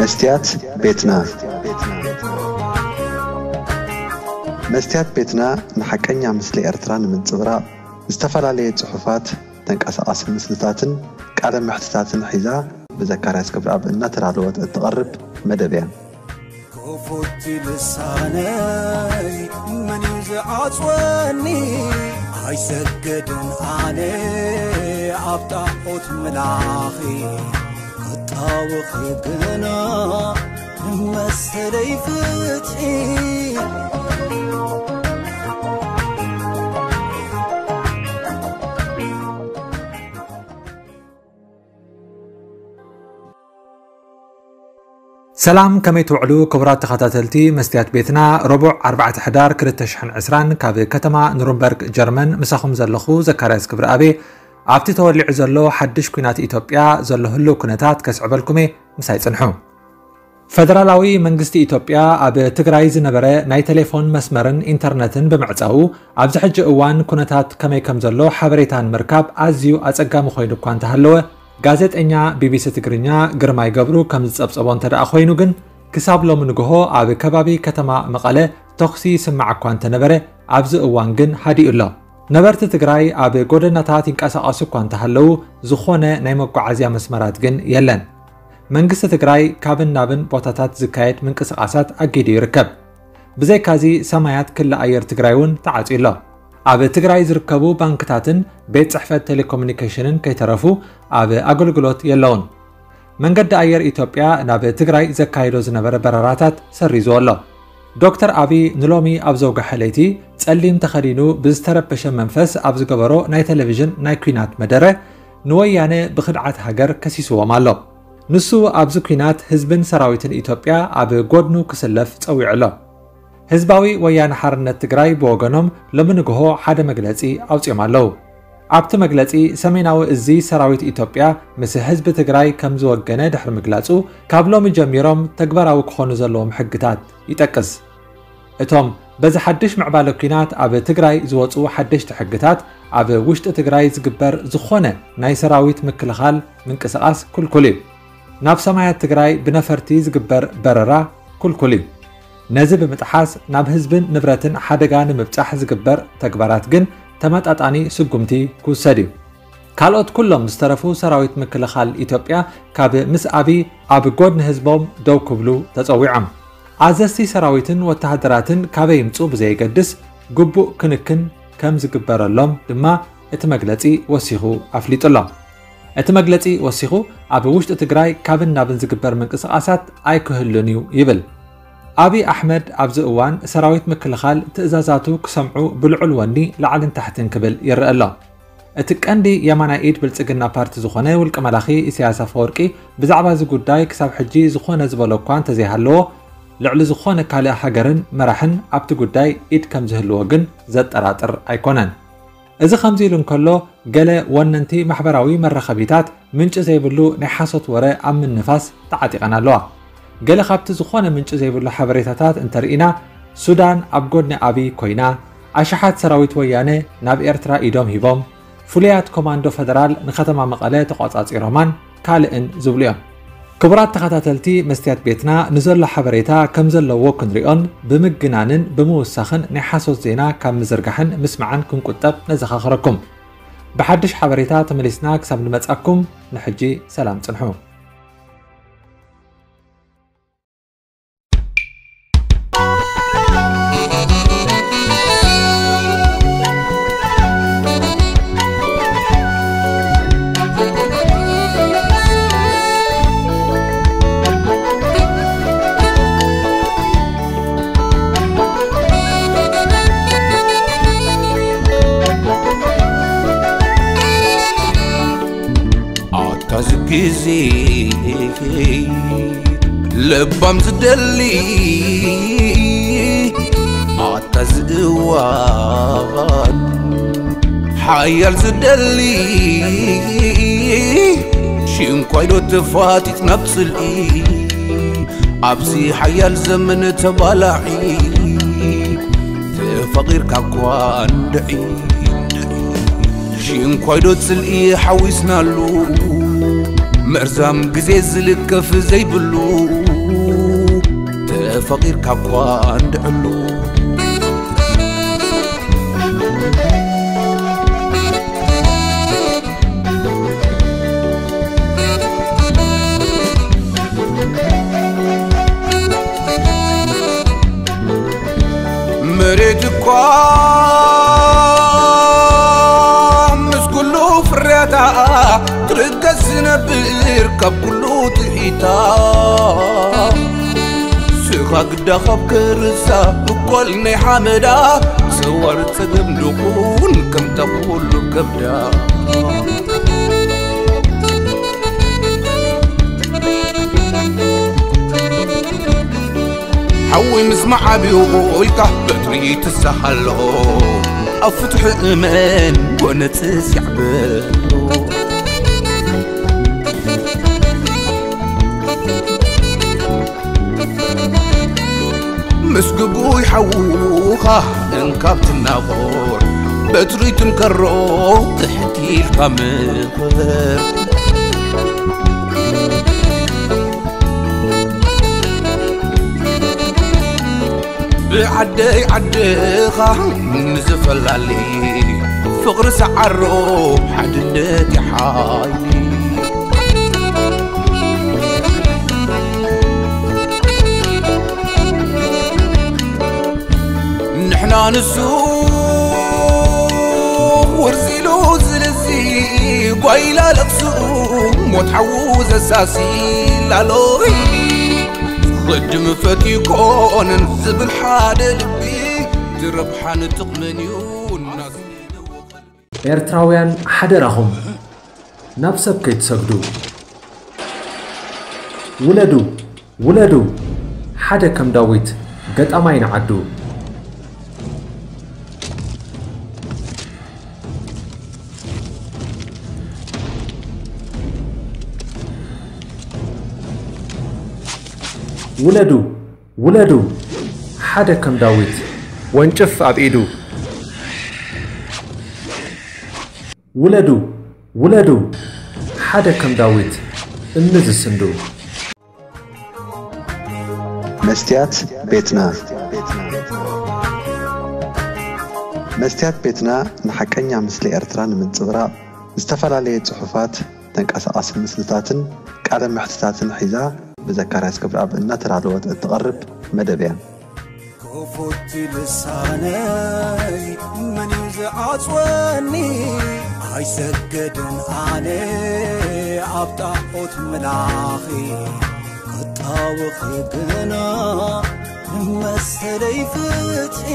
መስትያት ቤትና። መስትያት ቤትና ንሓቀኛ ምስሊ ኤርትራ ንምንጽብራቕ ዝተፈላለየ ጽሑፋት፣ ተንቀሳቓሲ ምስልታትን ቃለ መሕትታትን ሒዛ ብዘካርያስ ክብረኣብ እናተዳለወት እትቐርብ መደብ እያ። ክፉት ልሳነይ መን እዩ ዝዓጽወኒ? ኣይሰግድን ኣነ ኣብ ጣዖት ምላኺ፣ ክጣወኺ ግና ንመሰለይ ፍትሒ። ሰላም፣ ከመይ ትውዕሉ ክቡራት ተኸታተልቲ መስትያት ቤትና? ረቡዕ ኣርባዕተ ሕዳር ክልተ ሽሕን ዕስራን ካብ ከተማ ኑርንበርግ ጀርመን ምሳኹም ዘለኹ ዘካርያስ ክብረኣብ። ኣብቲ ተወሊዑ ዘሎ ሓድሽ ኲናት ኢትዮጵያ ዘሎ ህልው ኩነታት ከስዕበልኩም እየ፣ ምሳይ ጽንሑ። ፈደራላዊ መንግስቲ ኢትዮጵያ ኣብ ትግራይ ዝነበረ ናይ ቴሌፎን መስመርን ኢንተርነትን ብምዕጻዉ፣ ኣብዚ ሕጂ እዋን ኩነታት ከመይ ከም ዘሎ ሓበሬታ ንምርካብ ኣዝዩ ኣጸጋሚ ኮይኑ እኳ እንተሃለወ፣ ጋዜጠኛ ቢቢሲ ትግርኛ ግርማይ ገብሩ ከም ዝጸብጸቦ እንተ ደኣ ኮይኑ ግን፣ ክሳብ ሎሚ ንግሆ ኣብ ከባቢ ከተማ መቐለ ተኹሲ ይስማዕ እኳ እንተነበረ፣ ኣብዚ እዋን ግን ሃዲኡ ኣሎ። ነበርቲ ትግራይ ኣብ ጎደናታት ይንቀሳቐሱ እኳ እንተሃለዉ፣ ዝኾነ ናይ መጓዓዝያ መስመራት ግን የለን። መንግስቲ ትግራይ ካብን ናብን ቦታታት ዝካየድ ምንቅስቓሳት ኣጊዱ ይርከብ። ብዘይካዚ፣ ሰማያት ክሊ ኣየር ትግራይ እውን ተዓጽዩ ኣሎ። ኣብ ትግራይ ዝርከቡ ባንክታትን ቤት ጽሕፈት ቴሌኮሙኒኬሽንን ከይተረፉ ኣብ ኣገልግሎት የለውን። መንገዲ ኣየር ኢትዮጵያ ናብ ትግራይ ዘካይዶ ዝነበረ በረራታት ሰሪዝዎ ኣሎ። ዶክተር ኣቢ ንሎሚ ኣብ ዘውግሐ ለይቲ ጸሊም ተኸዲኑ ብዝተረበሸ መንፈስ ኣብ ዝገበሮ ናይ ቴሌቪዥን ናይ ኲናት መደረ፣ ንወያነ ብኽድዓት ሃገር ከሲስዎም ኣሎ። ንሱ ኣብዚ ኲናት ህዝብን ሰራዊትን ኢትዮጵያ ኣብ ጎድኑ ክስለፍ ጸዊዑ ኣሎ። ህዝባዊ ወያነ ሓርነት ትግራይ ብወገኖም ሎሚ ንግሆ ሓደ መግለጺ ኣውጺኦም ኣለዉ። ኣብቲ መግለጺ፣ ሰሜናዊ እዚ ሰራዊት ኢትዮጵያ ምስ ህዝቢ ትግራይ ከም ዝወገነ ድሕሪ ምግላጹ፣ ካብ ሎሚ ጀሚሮም ተግባራዊ ክኾኑ ዘለዎም ሕግታት ይጠቅስ። እቶም በዚ ሓድሽ ምዕባለ ኲናት ኣብ ትግራይ ዝወጹ ሓደሽቲ ሕግታት፣ ኣብ ውሽጢ ትግራይ ዝግበር ዝኾነ ናይ ሰራዊት ምክልኻል ምንቅስቓስ ክልኩል እዩ። ናብ ሰማያት ትግራይ ብነፈርቲ ዝግበር በረራ ክልኩል እዩ። ነዚ ብምጥሓስ ናብ ህዝብን ንብረትን ሓደጋ ንምብጻሕ ዝግበር ተግባራት ግን ተመጣጣኒ ስጉምቲ ክውሰድ እዩ። ካልኦት ኩሎም ዝተረፉ ሰራዊት ምክልኻል ኢትዮጵያ ካብ ምስ ኣቢ ኣብ ጎድኒ ህዝቦም ደው ክብሉ ተጸዊዖም። ኣዘዝቲ ሰራዊትን ወተሃደራትን ካበይ ይምጹ ብዘየገድስ፣ ግቡእ ክንክን ከም ዝግበረሎም ድማ እቲ መግለጺ ወሲኹ ኣፍሊጡ ኣሎ። እቲ መግለጺ ወሲኹ፣ ኣብ ውሽጢ ትግራይ ካብን ናብን ዝግበር ምንቅስቓሳት ኣይክህሉን እዩ ይብል። ኣቢ ኣሕመድ ኣብዚ እዋን ሰራዊት ምክልኻል ትእዛዛቱ ክሰምዑ ብልዑል ወኒ ላዕልን ታሕትን ክብል ይረአ ኣሎ። እቲ ቀንዲ የማናይ ኢድ ብልጽግና ፓርቲ ዝኾነ ውልቀ መላኺ ኢሳያስ ኣፈወርቂ ብዛዕባ እዚ ጉዳይ ክሳብ ሕጂ ዝኾነ ዝበሎ እኳ እንተዘይሃለዎ፣ ልዕሊ ዝኾነ ካልእ ሃገርን መራሕን ኣብቲ ጉዳይ ኢድ ከም ዝህልዎ ግን ዘጠራጥር ኣይኮነን። እዚ ከምዚ ኢሉ እንከሎ፣ ገለ ወነንቲ ማሕበራዊ መራኸቢታት ምንጪ ዘይብሉ ናይ ሓሶት ወረ ኣብ ምንፋስ ተዓጢቐን ኣለዋ። ገለ ካብቲ ዝኾነ ምንጪ ዘይብሉ ሓበሬታታት እንተርኢና፣ ሱዳን ኣብ ጎድኒ ኣቢ ኮይና፣ ኣሽሓት ሰራዊት ወያነ ናብ ኤርትራ ኢዶም ሂቦም፣ ፍሉያት ኮማንዶ ፈደራል ንከተማ መቐለ ተቖጻጺሮማን ካልእን ዝብሉ እዮም። ክቡራት ተኸታተልቲ መስትያት ቤትና፣ ንዘሎ ሓበሬታ ከም ዘለዎ ክንሪኦን ብምግናንን ብምውሳኽን ናይ ሓሶት ዜና ካብ ምዝርጋሕን ምስማዕን ክንቁጠብ ነዘኻኽረኩም። ብሓድሽ ሓበሬታ ተመሊስና ክሳብ ንመጻኩም፣ ንሕጂ ሰላም ጽንሑ። ኣታ ዝግዜ ለባም ዝደሊ፣ ኣታ ዝእዋን ሓያል ዝደሊ፣ ሽንኳይዶ ተፋጢጥ ናብ ጽልኢ፣ ኣብዚ ሓያል ዘመን ተባላዒ፣ ተፋቒርካ እኳ እንድዒ፣ ሽንኳይዶ ጽልኢ ሓዊስናሉ፣ መርዛም ግዜ ዝልከፍ ዘይብሉ፣ ተፈቒርካ እኳ እንድዕሉ። መሬት እኳ ምስ ኩሉ ፍርያታ፣ ትርገስ ዝነብር ካብ ኩሉ ጥሒታ። ስኻ ግዳ ካብ ከርሳ፣ እኮል ናይ ሓመዳ፣ ሰዋር ጸገም ድኹን ከምታ ኩሉ ከብዳ። ሓዊ ምስ መዓብዩ ኢልካ በትሪ ትሳሃሎ፣ ኣብ ፍትሒ እመን፣ ጎነጽ ሲዕበሎ። ምስ ግጉይ ሓውኻ እንካብ ትናቖር፣ በትሪ ትንከሮ ትሕት ኢልካ ምኽር። ብዓደይ ዓድኻ ንዝፈላሊ፣ ፍቕሪ ሰዓሮ ሓድነት ይሓይሊ። ንሕና ንሱ ውርዚሉ ዝልዚ፣ ጓይላ ለቕሱ ሞት ሓዉ ዘሳሲ ላሎይ። ቕድሚ ፈትዩ ኮነን ዝብል ሓደ ልቢ፣ ዝረብሓን ጥቕምን እዩ እናስ-። ኤርትራውያን ሓደራኹም ናብ ሰብ ከይትሰግዱ። ውለዱ፣ ውለዱ፣ ሓደ ከም ዳዊት ገጣማይ ንዓዱ። ውለዱ፣ ውለዱ፣ ሓደ ከም ዳዊት ወንጭፍ ኣብ ኢዱ። ውለዱ፣ ውለዱ፣ ሓደ ከም ዳዊት እምኒ ዝስንዱ። መስትያት ቤትና። መስትያት ቤትና ንሓቀኛ ምስሊ ኤርትራ ንምንጽብራቕ ዝተፈላለየ ጽሑፋት፣ ተንቀሳቓሲ ምስልታትን ቃለ መሕትታትን ሒዛ ብዘካርያስ ክብረኣብ እናተዳለወት እትቐርብ መደብ እያ። ክፉት ልሳነይ መን እዩ ዝዓጽወኒ? ኣይሰገድን ኣነ ኣብ ጣዖት ምላኺ ክጣወኺ ግና መሰለይ ፍትሒ